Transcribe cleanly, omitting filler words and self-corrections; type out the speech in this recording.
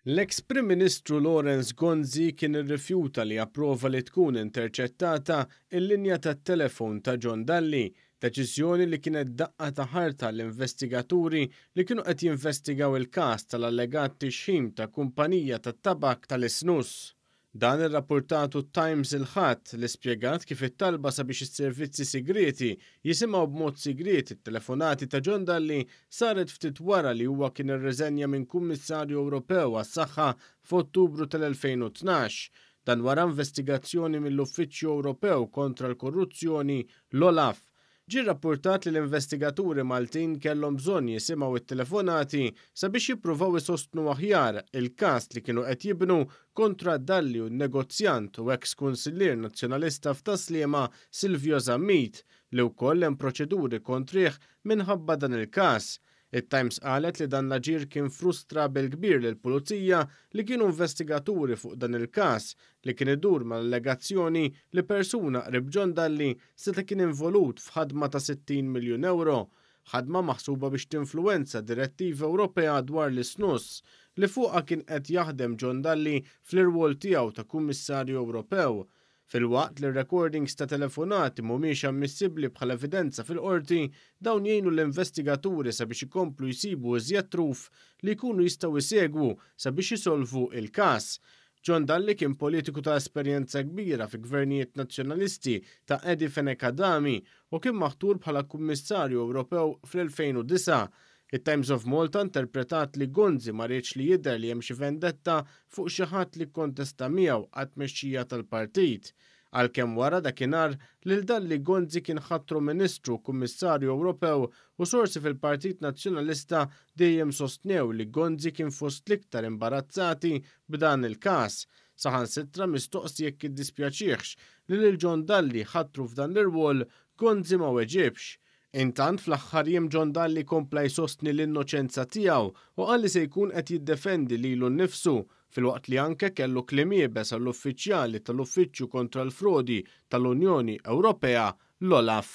L-eks Prim Ministru Lawrence Gonzi kien irrifjuta li japprova li tkun interċettata l-linja tat-telefon ta' John Dalli, deċiżjoni li kienet daqqa ta' ħarta għall-investigaturi li kienu qed jinvestigaw il-każ tal-allegat tixħim ta' kumpanija tat-tabakk tal-isnus. Dan irrappurtatu t-Times il-Ħadd li spjegat kif it-talba sabiex is-servizzi sigrieti jisimgħu b'mod sigriet it-telefonati ta' John Dalli saret ftit wara li huwa kien irriżenja minn Kummissarju Ewropew għas-Saħħa f'Ottubru tal-2012. Dan wara investigazzjoni mill-Uffiċċju Ewropew kontra l-Korruzzjoni, l-OLAF. Ġie rrappurtat li l-investigaturi Maltin kellhom bżonn jisimgħu t-telefonati sabiex jippruvaw isostnu aħjar il-każ li kienu qed jibnu kontra Dalli u n-negozjant u eks kunsillier Nazzjonalista f'Tas-Sliema Silvio Zammit li wkoll hemm proċeduri kontrih minħabba dan il-każ. It-Times qalet li dan l-aġir kien frustra bil-kbir lill-Pulizija li kienu investigaturi fuq dan il-każ li kien idur mal-allegazzjoni li persuna qrib John Dalli seta' kien involut f'ħadma ta' 60 miljun ewro, ħadma maħsuba biex tinfluwenza direttiva Ewropea dwar l-isnus, li fuqha kien qed jaħdem John Dalli fl-irwol tiegħu ta' Kummissarju Ewropew. Filwaqt li r-recordings ta' telefonati mhumiex ammissibbli bħala evidenza fil-Qorti, dawn jgħinu l-investigaturi sabiex ikomplu jsibu iżjed truf li jkunu jistgħu jsegwu sabiex isolvu il-każ. John Dalli kien politiku ta' esperjenza kbira fi gvernijiet Nazzjonalisti ta' Eddie Fenech Adami u kien maħtur bħala Kummissarju Ewropew fl-2009. It-Times of Malta interpretat li Gonzi ma riedx li jidher li hemm xi vendetta fuq xi ħadd li kkontesta miegħu għat-tmexxija tal-partit. Għalkemm wara dakinhar lil Dalli Gonzi kien ħatru Ministru u Kummissarju Ewropew u sorsi fil-Partit Nazzjonalista dejjem sostnew li Gonzi kien fost l-iktar imbarazzati b'dan il-każ. Saħansitra mistoqsi jekk iddispjaċihx li lil John Dalli ħatru f'dan l-irwol, Gonzi ma weġibx. Intant fl-aħħar jiem John Dalli kompla jsostni l-innoċenza tiegħu u qal li se jkun qed jiddefendi lilu nnifsu filwaqt li anke kellu kliem iebes għall-uffiċjali tal-Uffiċċju Kontra l-Frodi tal-Unjoni Ewropea, l-OLAF.